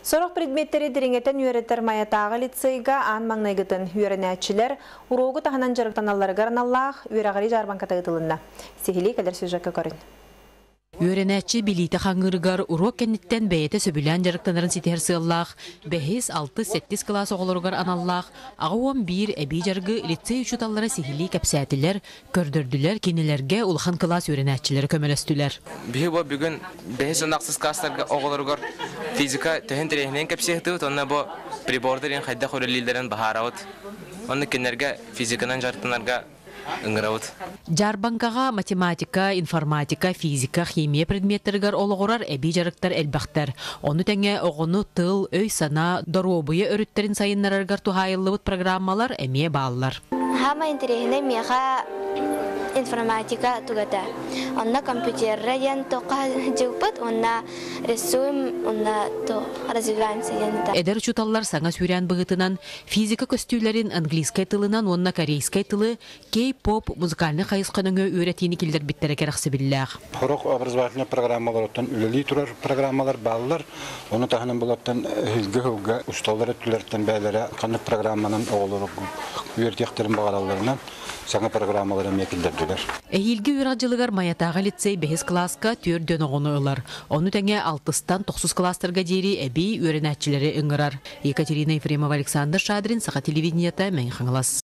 Сорох предметтэри дириҥэтэн үөрэтэр Майатааҕы лицейга аан маҥнайгытын үөрэнээччилэр уруогу таһынан дьарыктаналларыгар аналлаах үөрэҕирии дьаарбаҥката ыытылынна. Сиһилии кэлэр сюжекка көрүн. Үөрэнээччи билиитэ хаҥыырыгар уруок кэнниттэн бэйэтэ сөбүлээн дьарыктанарын ситиһэр сыаллаах бэһис, алтыс, сэттис кылаас оҕолоругар аналлаах 81 эбии дьарыгы лицей учууталлара сиһилии кэпсээтилэр, көрдөрдүлэр, кинилэргэ улахан кылаас үөрэнээччилэрэ көмөлөстүлэр. Биһи бу бүгүн бэһис уонна ахсыс класстарга оҕолоругар физика төһөн интэриэһинэйин кэпсиэхтибит уонна бу прибордарын хайдах үлэлииллэрин баһаарабыт. Онно кинилэргэ физиканан дьарыктанарга ыҥырабыт. Дьаарбаҥкаҕа математика, информатика, физика, химия предметтэригэр олоҕурар эбии дьарыктар элбэхтэр. Ону тэҥэ оҕону тыл, өй-санаа, доруобуйа өрүттэрин сайыннарарыгар туһаайыллыбыт программалар эмиэ бааллар. Саамай интэриэһинэй миэхэ информатика тугата. Онно компьютерра диэн туохха дьылпыт уонна рисуем уонна развиваемся диэн этэ. Эдэр учууталлар саҥа сүүрээн быһыытынан физика көстүүлэрин английскай тылынан уонна корейскай тылы кей-поп музыкальнай хайысха нөҥүө үөрэтиини киллэрбиттэрэ кэрэхсэбиллээх. Сорох образовательнай программаларыттан үлэлии турар программалар бааллар. Ону таһынан булаттан эһиилги сылга учууталлар өттүлэриттэн бэйэлэрэ ханнык программанан оҕолору үөрэтиэхтэрин баҕаралларынан саҥа программалары эмиэ киллэрдилэр. Эһиилги үөрэх дьылыгар Майатааҕы лицей бэһис кылааска түөрт оҕону ылар. Ону тэҥэ алтыстан тохсус кылаастарга диэри эбии үөрэнээччилэри ыҥырар. Екатерина Ефремова, Александр Шадрин, Саха телевидениета, Мэҥэ Хаҥалас.